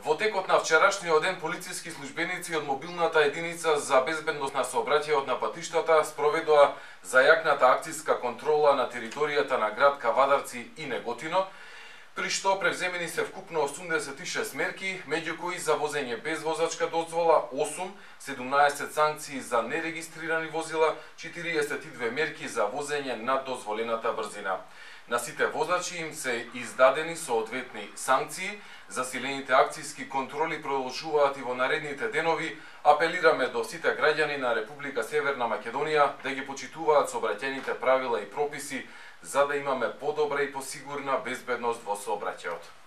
Во текот на вчерашниот ден, полициски службеници од мобилната единица за безбедност на сообраќајот на патиштата спроведоа зајакната акцијска контрола на територијата на град Кавадарци и Неготино, при што превземени се вкупно 86 мерки, меѓу кои за возење без возачка дозвола 8, 17 санкции за нерегистрирани возила, 42 мерки за возење над дозволената брзина. На сите возачи им се издадени соодветни санкции. Засилените акцијски контроли продолжуваат и во наредните денови. Апелираме до сите граѓани на Република Северна Македонија да ги почитуваат сообраќајните правила и прописи за да имаме подобра и посигурна безбедност во сообраќајот.